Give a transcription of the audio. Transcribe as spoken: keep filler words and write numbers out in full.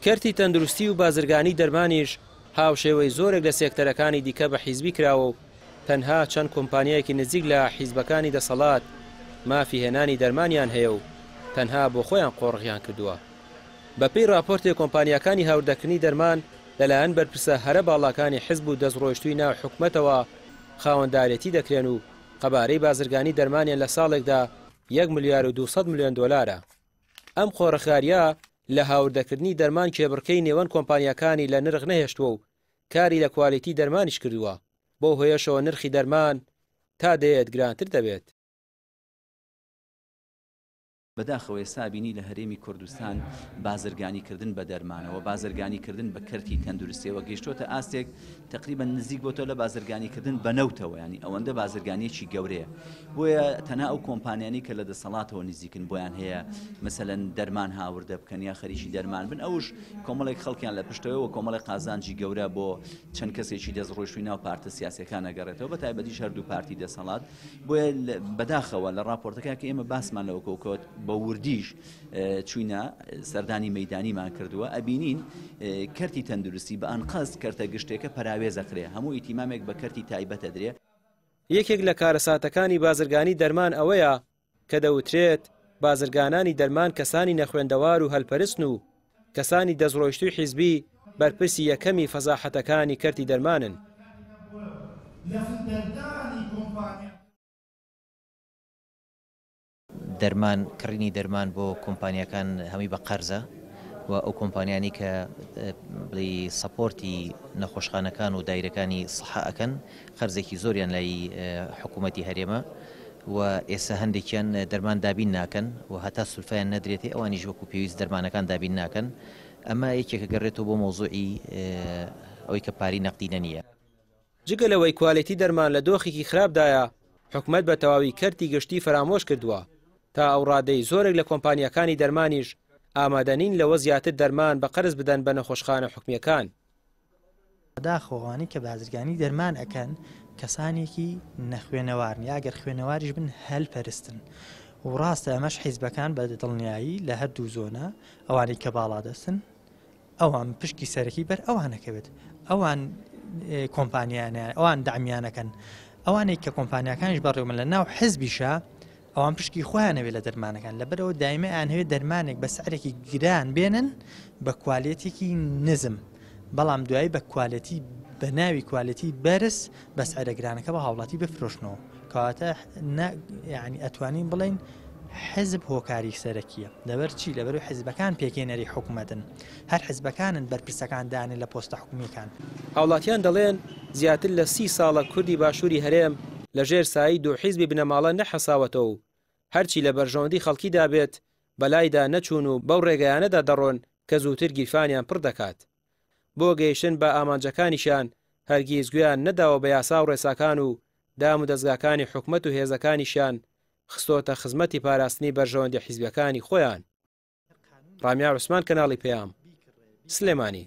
کەرتی تەندروستی و بازرگانی دەرمانیش هاوشێوەی زۆرێک لە سێکتەرەکانی دیکە بە حیزبی کراوە و تەنها چەند کۆمپانیایەکی نزیک لە حیزبەکانی دەسەڵات مافی هێنانی دەرمانیان هەیە و تەنها بۆ خۆیان قۆڕغیان کردووە. بەپێی راپۆرتی کۆمپانیاکانی هاوردەکردنی دەرمان لەلایەن بەرپرسە هەرە باڵاکانی حیزب و دەستڕۆیشتووی ناو حکومەتەوە خاوەندارێتی دەکرێن و قەبارەی بازرگانی دەرمانیان لە ساڵێکدا یەک ملیار و دوو سەد ملیۆن دۆلارە. ئەم قۆڕخاریە لە هاوردەکردنی دەرمان کێبڕکەی نێوان کۆمپانیاکانی لە نرخ نەهێشتووە و کاری لە کوالیتی دەرمانیش کردووە، بۆ هۆیەشەوە نرخی دەرمان تا دێت گرانتر دەبێت. بەداخەوە ئێستا بینی لە هەرێمی کوردستان بازرگانیکردن بە دەرمانەوە، بازرگانیکردن بە کەرتی تەندروستیەوە گەیشتۆتە ئاستێک تقریبا نزیک بۆتەوە لە بازرگانیکردن بە نەوتەوە، ینی ئەوەندە بازرگانیەکی گەورەیە. بۆیە تەنها ئەو کۆمپانیانی کە لە دەسەڵاتەوە نزیکن بۆیان هەیە مەسەلەن دەرمان هاوردە بکەن یا خەریکی دەرمان بن، ئەوش کۆمەڵێک خەڵکیان لە پشتەوە و کۆمەڵێک قازانجی گەورە بۆ چەند کەسێکی دەستڕۆیشتووی ناو پارتە سیاسیەکان ئەگەڕێتەوە، بە تایبەتیش هەردوو پارتی دەسەڵات. بۆیە بەداخەوە لە راپۆرتەکە کە ئێمە باسمان لەوە کەوت بە وردیش چوینە سەردانی مەیدانیمان کردووە، ئەبینین کەرتی تەندروستی بە ئەنقەست کەرتە گشتێکە پەراوێزەکرێ، هەموو ئیتیمامێک بە کەرتی تایبەتە درێ. یەکێک لە کارەساتەکانی بازرگانی دەرمان ئەوەیە کە دەوترێت بازرگانانی دەرمان کەسانی نەخوێندەوار و هەلپەرستن و کەسانی دەستڕۆیشتووی حیزبی بەرپرسی یەکەمی فەزاحەتەکانی کەرتی دەرمانن. دەرمان، کڕینی دەرمان بۆ کۆمپانیەکان هەمووی بە قەرزە و ئەو کۆمپانیانی کە بڵێ سەپۆرتی نەخۆشخانەکان و دایرەکانی سەحە ئەکەن قەرزێکی زۆریان لای حکوومەتی هەرێمە و ئێستا هەندێکیان دەرمان دابین ناکەن و هەتا سولفیان نەدرێتێ ئەوانیش وەکو پێویست دەرمانەکان دابین ناکەن. ئەمە یەکێکە گەڕێتەوە بۆ مەوزوعی ئەوەی کە پاری نەقدینە نییە. جگە لەوەی کوالێتی دەرمان لە دۆخێکی خراپدایە، حکومەت بە تەواوی کەرتی گشتی فەرامۆش کردووە تا ئەو ڕادەی زۆرێک لە کۆمپانیەکانی دەرمانیش ئامادەنین لەوە زیاتر دەرمان بە قەرز بدەن بە نەخۆشخانە حکومیەکان. بەداخەوە کە بازرگانی دەرمان ئەکەن کەسانێکی نەخوێنەوارن یا ئەگەر خوێنەواریش بن هەلپەرستن و ڕاستە ئەمەش حیزبەکان بە دڵنیایی لە هەردوو زۆنە ئەوانەی کە باڵادەستن ئەوان پشکی سەرەکی بەر ئەوانەکەوێت، ئەوان کۆمپانیانیان ئەوان دامیانەکەن، ئەوانەی کە کۆمپانیاکانیش بەڕێوەبن لە ناو حیزبیشە ئەوان پشکی خۆیانەوێت لە دەرمانەکان، لەبەرەوە دایمە ئەیانهەوێت دەرمانێک بە سعرێکی گران بێنن بە کوالێتێکی نزم، بەڵام دوایی بە کوالێتی بە ناوی کوالێتی بەرز بە سعرە گرانەکە بە هاوڵاتی بفرۆشنەوە. کەواتە یعنی ئەتوانین بڵێین حزب هۆکاری سەرەکیە. لەبەر چی؟ لەبەرەوەی حزبەکان پێکهێنەری حکوومەتن، هەر حزبەکانن بەرپرسەکان دانێن لە پۆستە حکومیەکان. هاوڵاتیان دەڵێن زیاتر لە سی ساڵە کوردی باشووری هەرێم لەژێر سایی دوو حیزبی بنەماڵە نەحەساوەتەوە و هەرچی لە بەرژەوەندی خەڵکیدا بێت بەلایدا نەچوون و بەو ڕێگەیانەدا دەڕۆن کە زووتر گیرفانیان پڕ دەکات. بۆ گەیشتن بە ئامانجەکانیشیان هەرگیز گوێیان نەداوە بە یاسا و ڕێساکان و دام و دەستگاکانی حکومەت و هێزەکانیشیان خستۆتە خزمەتی پاراستنی بەرژەوەندی حیزبەکانی خۆیان. ڕامیار عوسمان، کەناڵی پەیام، سلێمانی.